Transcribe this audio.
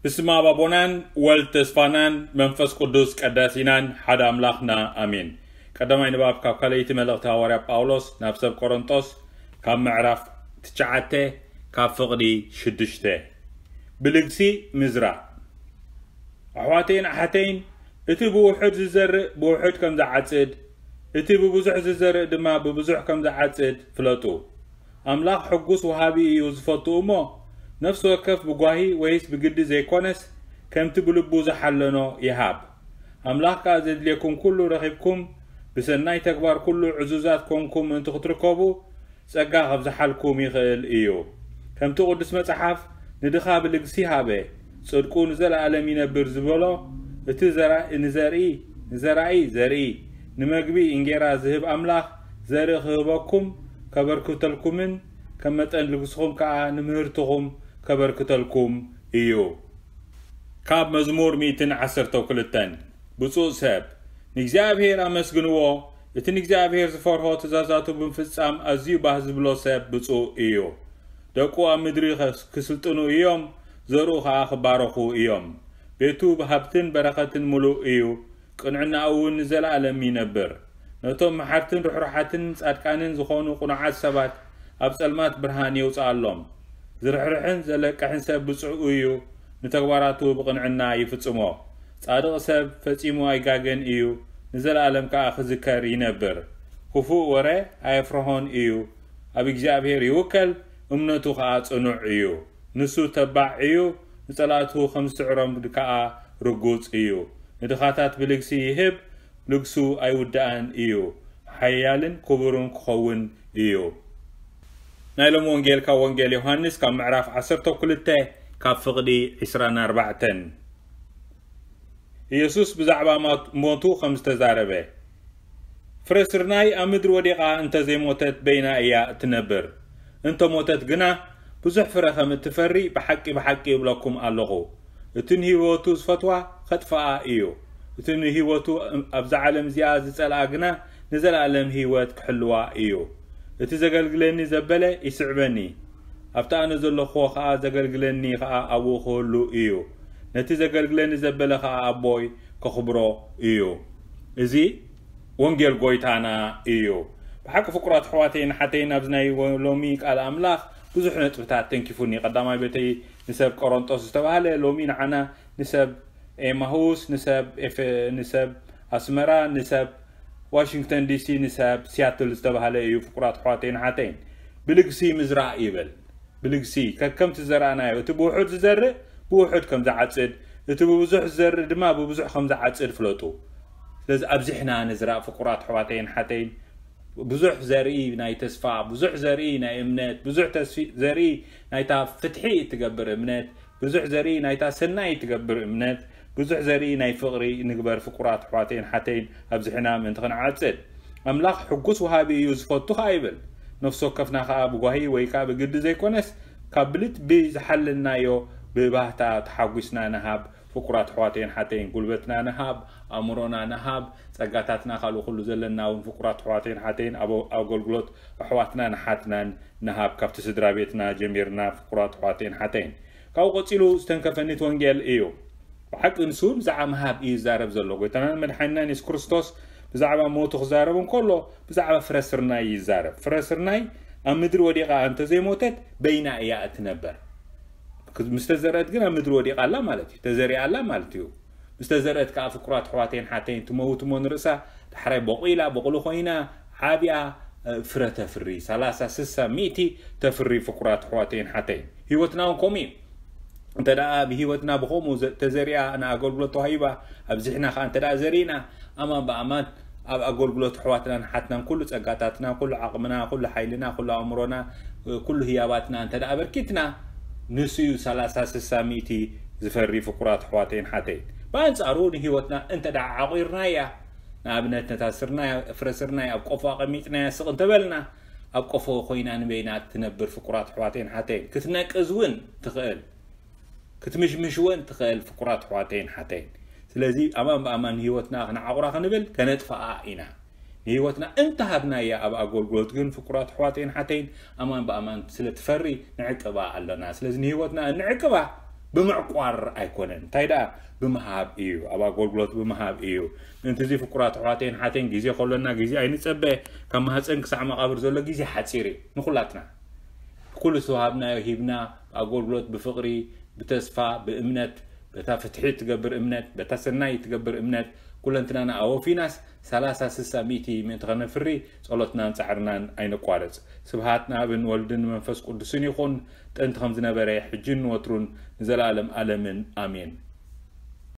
ብስመ ኣብ ኣቦናን ወልድ ተስፋናን መንፈስ ቅዱስ ቀዳሲናን ሓደ ኣምላኽና ኣሜን። ቀዳማይ ንባብ ካብ ካልኣይቲ መልእኽቲ ሃዋርያ ጳውሎስ ናብ ሰብ ቆሮንጦስ ካብ ምዕራፍ ትሽዓተ ካብ ፍቕዲ ሽዱሽተ። ብልግሲ ምዝራእ። ኣሕዋተይን ኣሓተይን፣ እቲ ብውሑድ ዝዘርእ ብውሑድ ከም ዝዓጽድ፣ እቲ ብብዙሕ ዝዘርእ ድማ ብብዙሕ ከም ዝዓጽድ ፍለጡ። ኣምላኽ ሕጉስ ወሃቢ እዩ ዝፈቱ እሞ፣ ነፍሲ ወከፍ ብጓሂ ወይስ ብግዲ ዘይኮነስ፣ ከምቲ ብልቡ ዝሓለኖ ይሃብ። ኣምላኽ ከኣ ዘድልየኩም ኩሉ ረኺብኩም፣ ብሰናይ ተግባር ኩሉ ዕዙዛት ኮንኩም ምእንቲ ክትርከቡ፣ ጸጋ ከብዝሓልኩም ይኽእል እዩ። ከምቲ ቅዱስ መጽሓፍ፣ "ንድኻ ብልግሲ ሃበ፣ ጽድቁ ንዘለኣለም ይነብር" ዝበሎ፣ እቲ ዘራ-፣ ንዘርኢ፣ ንዘራኢ ዘርኢ፣ ንመግቢ እንጌራ ዝህብ ኣምላኽ፣ ዘርኢ ክህበኩም፣ ከበርክተልኩምን፣ ከም መጠን ልግስኹም ከኣ ንምህርትኹም ከበርክተልኩም እዩ። ካብ መዝሙር ሚእትን ዓሰርተ ክልተን። ብፁዕ ሰብ፣ ንእግዚኣብሔር ኣመስግንዎ፣ እቲ ንእግዚኣብሔር ዝፈርሆ ትእዛዛቱ ብምፍጻም ኣዝዩ ባህ ዝብሎ ሰብ ብፁዕ እዩ። ደቁ ኣብ ምድሪ ኸስ-፣ ክስልጥኑ እዮም፣ ዘርኡ ኸኣ ክባረኹ እዮም። ቤቱ ብሃብትን በረኸትን ምሉእ እዩ፣ ቅንዕናኡ እውን ንዘለኣለም ይነብር። ነቶም መሓርትን ርሕሩሓትን ጻድቃንን ዝኾኑ ቅኑዓት ሰባት ኣብ ጸልማት ብርሃን የውጽኣሎም። ዝርሕርሕን ዘለቅሕን ሰብ ብጹእ እዩ፣ ንተግባራቱ ብቕንዕና ይፍጽሞ። ጻድቕ ሰብ ፈጺሙ ኣይጋገን እዩ፣ ንዘለኣለም ከኣ ክዝከር ይነብር። ክፉእ ወረ ኣየፍርሆን እዩ፣ ኣብ እግዚኣብሔር ይውከል፣ እምነቱ ከኣ ጽኑዕ እዩ። ንሱ ተባዕ እዩ፣ ንጸላእቱ ከም ዝስዕሮም ከኣ ርጉጽ እዩ። ንድኻታት ብልግሲ ይህብ፣ ልግሱ ኣይውዳእን እዩ፣ ሓያልን ክቡርን ክኸውን እዩ። ናይ ሎሚ ወንጌል ካብ ወንጌል ዮሃንስ ካብ ምዕራፍ ዓሰርተ ክልተ ካብ ፍቕዲ ዕስራን ኣርባዕተን። ኢየሱስ ብዛዕባ ማት-፣ ሞቱ ከም ዝተዛረበ፣ ፍረ ስርናይ ኣብ ምድሪ ወዲቓ እንተ ዘይሞተት በይና እያ እትነብር። እንተ ሞተት ግና ብዙሕ ፍረ ከም እትፈሪ ብሓቂ ብሓቂ እብለኩም ኣለኹ። እቲ ንህይወቱ ዝፈትዋ ኸጥፍኣ እዩ። እቲ ንህይወቱ ኣብዛ ዓለም እዚኣ ዝጸልኣ ግና ንዘለኣለም ህይወት ክሕልዋ እዩ። እቲ ዘገልግለኒ ዘበለ ይስዕበኒ። ኣብቲ ኣነ ዘለኹዎ ኸኣ ዘገልግለኒ ኸኣ ኣብኡ ክህሉ እዩ። ነቲ ዘገልግለኒ ዘበለ ኸኣ ኣቦይ ከኽብሮ እዩ። እዚ ወንጌል ጎይታና እዩ። ብሓቂ ፍቁራት ኣሕዋተይን ኣሓተይን፣ ኣብዚ ናይ ወ-፣ ሎሚ ቃል ኣምላኽ ብዙሕ ነጥብታት ተንኪፉኒ። ቀዳማይ በተይ ንሰብ ቆሮንጦስ ዝተባህለ፣ ሎሚ ንዓና ንሰብ ኤማሁስ፣ ንሰብ ኤፈ-፣ ንሰብ ኣስመራ፣ ንሰብ ዋሽንግተን ዲሲ፣ ንሰብ ሲያትል ዝተባህለ እዩ። ፍቁራት ኣሕዋተይን ኣሓተይን፣ ብልግሲ ምዝራእ ይብል። ብልግሲ ከከም ትዘራእናዮ፣ እቲ ብውሑድ ዝዘርእ ብውሑድ ከም ዝዓጽድ፣ እቲ ብብዙሕ ዝዘርእ ድማ ብብዙሕ ከም ዝዓጽድ ፍለጡ። ስለዚ ኣብዚሕና ንዝራእ ፍቁራት ኣሕዋተይን ኣሓተይን፣ ብዙሕ ዘርኢ ናይ ተስፋ፣ ብዙሕ ዘርኢ ናይ እምነት፣ ብዙሕ ተስፊ-፣ ዘርኢ ናይታ ፍትሒ እትገብር እምነት፣ ብዙሕ ዘርኢ ናይታ ሰናይ እትገብር እምነት፣ ብዙሕ ዘርኢ ናይ ፍቕሪ ንግበር ፍቁራት ኣሕዋተይን ኣሓተይን፣ ኣብዚሕና ምእንቲ ክንዓጽድ። ኣምላኽ ሕጉስ ወሃቢ እዩ፣ ዝፈቱ ኸኣ ይብል። ነፍሲ ወከፍና ኸኣ ብጓሂ ወይ ከኣ ብግዲ ዘይኮነስ፣ ካብ ብልቢ ዝሓለናዮ ብባህታ ተሓጒስና ንሃብ። ፍቁራት ኣሕዋተይን ኣሓተይን፣ ጉልበትና ንሃብ፣ ኣእምሮና ንሃብ፣ ጸጋታትና፣ ካልእ ኩሉ ዘለና እውን ፍቁራት ኣሕዋተይን ኣሓተይን ኣብ ኣገልግሎት ኣሕዋትናን ኣሓትናን ንሃብ። ካብቲ ስድራ ቤትና ጀሚርና ፍቁራት ኣሕዋተይን ኣሓተይን። ካብኡ ቀጺሉ ዝተንከፈኒ እቲ ወንጌል እዩ። ብሓቂ ንሱ ብዛዕባ ምሃብ እዩ ዝዛረብ ዘሎ። ጎይታናን መድሓኒናን የሱስ ክርስቶስ ብዛዕባ ሞቱ ክዛረብ እንከሎ፣ ብዛዕባ ፍረ ስርናይ እዩ ዝዛረብ። ፍረ ስርናይ ኣብ ምድሪ ወዲቓ እንተዘይሞተት፣ በይና እያ እትነበር። ምስ ተዘርአት ግን ኣብ ምድሪ ወዲቓ ኣላ ማለት እዩ። ተዘሪኣ ኣላ ማለት እዩ። ምስ ተዘርአት ከኣ ፍቁራት ኣሕዋተይን ኣሓተይን ትመውት እሞ ንርእሳ፣ ዳሕራይ ቦቒላ፣ ቦቕሊ ኮይና፣ ዓብያ፣ እ፣ ፍረ ተፍሪ፣ ሰላሳ፣ ስሳ፣ ሚእቲ ተፍሪ ፍቁራት ኣሕዋተይን ኣሓተይን። ህይወትና እውን ከምኡ እዩ። እንተ ደኣ ብህይወትና ብኸምኡ ዘ-፣ ተዘሪኣ ንኣገልግሎት ተዋሂባ፣ ኣብዚሕና ከኣ እንተ ደኣ ዘሪእና፣ ኣማን ብኣማን ኣብ ኣገልግሎት ኣሕዋትናን ኣሓትናን ኩሉ ጸጋታትና፣ ኩሉ ዓቕምና፣ ኩሉ ሓይልና፣ ኩሉ ኣእምሮና፣ ኩሉ ህያባትና እንተ ደኣ ኣበርኪትና፣ ንሱ እዩ ሰላሳ፣ ስሳ፣ ሚእቲ ዝፈሪ ፍቁራት ኣሕዋተይን ኣሓተይን። ብኣንጻሩ ንህይወትና እንተ ደኣ ዓቑርናያ፣ ንኣብነት ነታ ስርናይ፣ ፍረ ስርናይ ኣብ ቆፎ ኣቐሚጥናያ ስቕ እንተበልና፣ ኣብ ቆፎ ኮይና ንበይና ትነብር ፍቁራት ኣሕዋተይን ኣሓተይን። ክትነቅዝ እውን ትኽእል። ክትምሽምሽ እውን ትኽእል ፍቁራት ኣሕዋተይን ኣሓተይን። ስለዚ ኣማን ብኣማን ንህይወትና ክንዓቑራ ክንብል ከነጥፍኣ ኢና። ንህይወትና እንተሃብናያ ኣብ ኣገልግሎት ግን ፍቁራት ኣሕዋተይን ኣሓተይን ኣማን ብኣማን ስለ ትፈሪ ንዕቅባ ኣለና። ስለዚ ንህይወትና እንዕቅባ ብምዕቋር ኣይኮነን። እንታይ ደኣ? ብምሃብ እዩ። ኣብ ኣገልግሎት ብምሃብ እዩ። ምእንቲ እዚ ፍቁራት ኣሕዋተይን ሓተይን፣ ግዜ ከሎና ግዜ ኣይንጸበ። ካብ ማህፀን ክሳዕ መቓብር ዘሎ ግዜ ሓፂር እዩ ንኹላትና። ኩሉ ዝተዋሃብናዮ ሂብና፣ ብኣገልግሎት፣ ብፍቕሪ፣ ብተስፋ፣ ብእምነት፣ በታ ፍትሒ እትገብር እምነት፣ በታ ሰናይ እትገብር እምነት፣ ኩለንትናና ኣወፊናስ፣ ሰላሳ፣ ስሳ፣ ሚእቲ፣ ምእንቲ ኸነፍሪ ጸሎትናን ጻዕርናን ኣይነቋርጽ። ስብሃት ንኣብን ወልድን መንፈስ ቅዱስን ይኹን፣ ጥንቲ ከም ዝነበረ፣ ሕጅን ንወትሩን፣ ንዘለኣለም ኣለምን። ኣሜን።